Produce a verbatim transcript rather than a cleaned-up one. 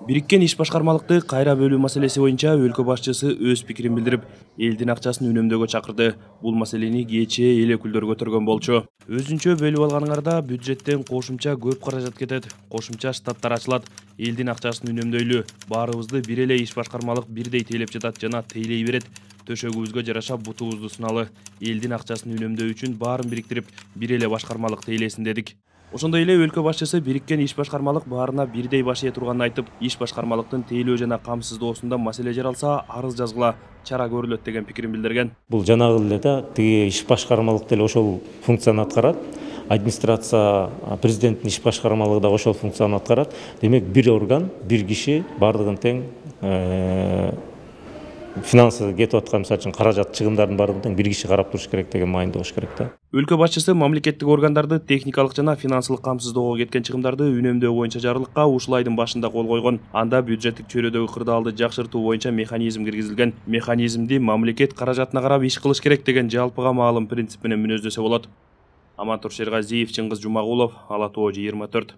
Бириккен иш башкармалыкты кайра бөлүү маселеси боюнча өлкө башчысы өз пикирин билдирип, элдин акчасын үнөмдөөгө чакырды. Бул маселени кечээ эл өкүлдөрү көтөргөн болчу. Өзүнчө бөлүп алганыңарда бюджеттен кошумча көп каражат кетет, кошумча штаттар ачылат. Элдин акчасын үнөмдөйлү, баарыбызды бир эле иш башкармалык бирдей тейлеп жатат жана тейлей берет. Төшөгүбүзгө жараша бутубузду сыналы. Элдин акчасын үнөмдөө үчүн баарын бириктирип, бир эле башкармалык тейлесин дедик. Ошондой эле өлкө башчысы бириккен иш башкармалык баарына бирдей баш ээ турганын айтып, иш башкармалыктын тейлөө жана камсыздоосунда маселе жаралса, арыз жазгыла, чара көрүлөт деген пикирин билдирген. Бул жанагы эле да, тиги иш башкармалык деле ошол функцияны аткарат. Администрация, президенттин иш башкармалыгы да ошол функцияны аткарат. Демек, бир орган, бир киши бардыгын тең финансы кетип аткан, мисалы үчүн каражат чыгымдардын баардыгын бир киши карап туруш керек деген маанидө болуш керек да. Өлкө башчысы мамлекеттик органдарды техникалык жана финансылык камсыздоого кеткен чыгымдарды үнөмдөө боюнча жарлыкка ушул айдын башында кол койгон. Анда бюджеттик чөйрөдөгү кырдаалды жакшыртуу боюнча механизм киргизилген. Механизмди мамлекет каражатына карап иш кылыш керек деген жалпыга маалым принцип менен мүнөздөсө болот. Амантур Шергазиев, Чыңгыз Жумагулов, Ала Тоо жыйырма төрт.